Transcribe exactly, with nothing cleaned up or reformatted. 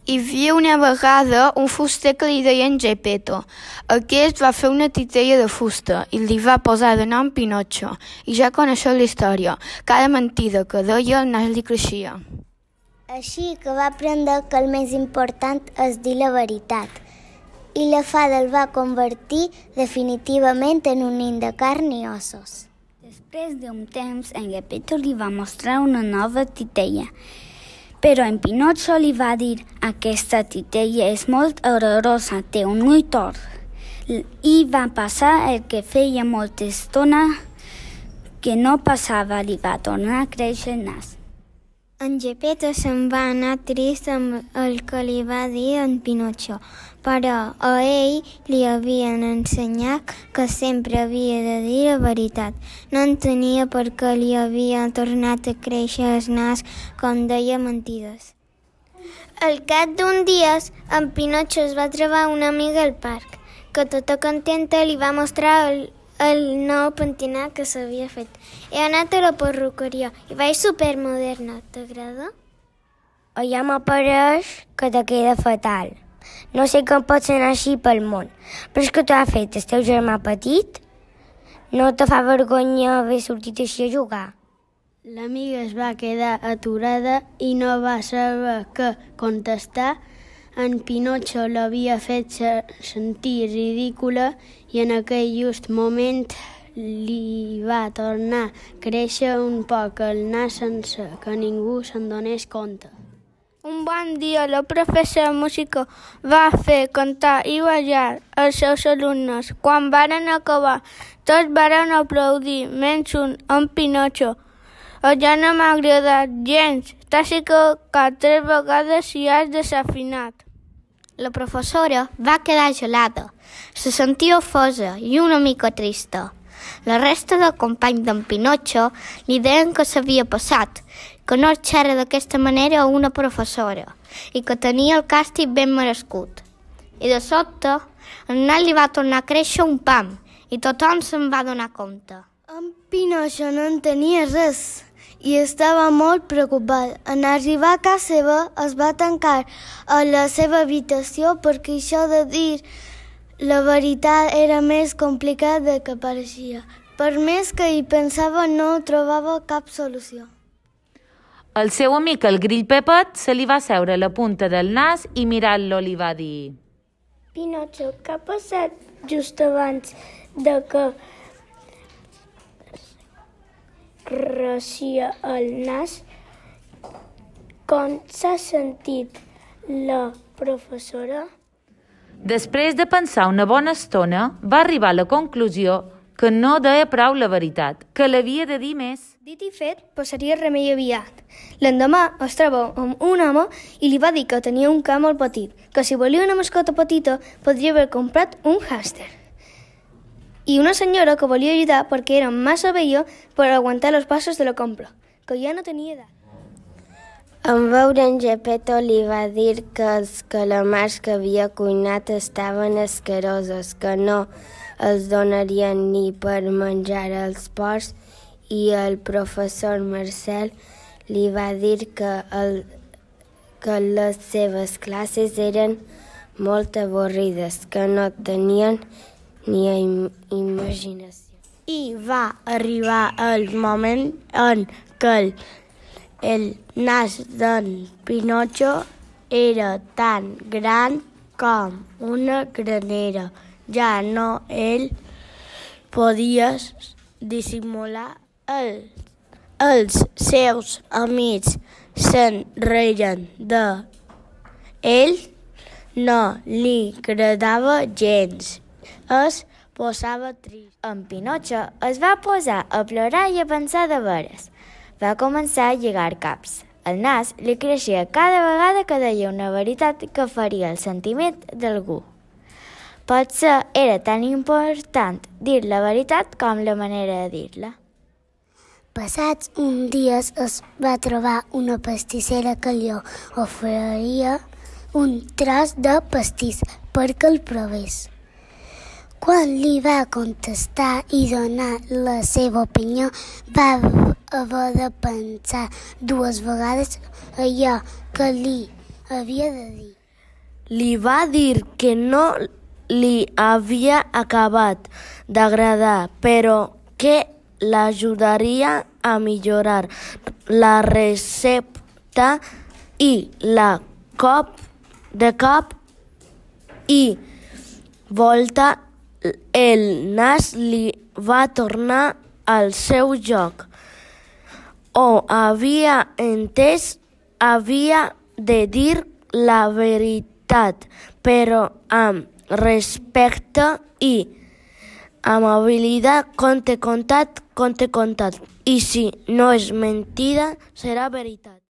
Hi havia una vegada un fuster que li deien Geppetto. Aquest va fer una titella de fusta i li va posar de nom Pinotxo. I ja coneixeu la història. Cada mentida que deia el nas li creixia. Així que va aprendre que el més important és dir la veritat. I la fada el va convertir definitivament en un nen de carn i ossos. Després d'un temps, en Geppetto li va mostrar una nova titella. Però en Pinotxo li va dir: aquesta titella és molt horrorosa, té un ull tort. I va passar el que feia molta estona que no passava, li va tornar a créixer el nas. En Geppetto se'n va anar trist amb el que li va dir en Pinotxo, però a ell li havien ensenyat que sempre havia de dir la veritat. No entenia per què li havia tornat a créixer el nas com deia mentides. Al cap d'un dia, en Pinotxo es va trobar una amiga al parc, que tota contenta li va mostrar el, el nou pentinat que s'havia fet. He anat a la perruqueria i vaig supermoderna. T'agrada? Ja m'apareix que te queda fatal. No sé com pots anar així pel món. Però és que t'ho ha fet el teu germà petit? No te fa vergonya haver sortit així a jugar? L'amiga es va quedar aturada i no va saber què contestar. En Pinotxo l'havia fet sentir ridícula i en aquell just moment li va tornar a créixer un poc el nas sense que ningú se'n donés compte. Un bon dia, la professora de música va fer cantar i ballar els seus alumnes. Quan varen acabar, tots varen aplaudir, menys un, en Pinotxo. Ja no m'ha agradat gens, t'has equivocat tres vegades i has desafinat. La professora va quedar gelada, se sentia ofesa i una mica trista. La resta de companys d'en Pinotxo li deien que s'havia passat, que no xerra d'aquesta manera a una professora i que tenia el càstig ben merescut. I de sobte, el nas li va tornar a créixer un pam i tothom se'n va donar compte. En Pinotxo no entenia res i estava molt preocupat. En arribar a casa seva es va tancar a la seva habitació perquè això de dir la veritat era més complicat del que pareixia. Per més que hi pensava, no trobava cap solució. El seu amic, el grill Pepet, se li va seure a la punta del nas i mirant-lo li va dir: Pinotxo, què ha passat just abans de que rocia el nas? Com s'ha sentit la professora? Després de pensar una bona estona, va arribar a la conclusió que no deia prou la veritat, que l'havia de dir més. Dit i fet, passaria remei aviat. L'endemà es troba amb un home i li va dir que tenia un ca molt petit, que si volia una mascota petita podria haver comprat un hàmster. I una senyora que volia ajudar perquè era massa vella per aguantar els passos de la compra, que ja no tenia edat. En veure en Geppetto li va dir que els calamars que havia cuinat estaven asquerosos, que no els donarien ni per menjar als porcs, i el professor Marcel li va dir que, el, que les seves classes eren molt avorrides, que no tenien ni im imaginació. I va arribar el moment en què el El nas d'en Pinotxo era tan gran com una granera. Ja no ell podia dissimular el. Els seus amics se'n reien de ell, no li agradava gens. Es posava trist. En Pinotxo es va posar a plorar i a pensar de veres. Va començar a lligar caps. El nas li creixia cada vegada que deia una veritat que feria el sentiment d'algú. Potser era tan important dir la veritat com la manera de dir-la. Passats uns dies es va trobar una pastissera que li oferia un tros de pastís perquè el provés. Quan li va contestar i donar la seva opinió, va haver de pensar dues vegades allò que li havia de dir. li va dir que no li havia acabat d'agradar, però que l'ajudaria a millorar la recepta i la cop de cop i volta el nas li va tornar al seu lloc. Ho havia entès, havia de dir la veritat, però amb respecte i amabilitat, conte contat, conte contat. I si no és mentida, serà veritat.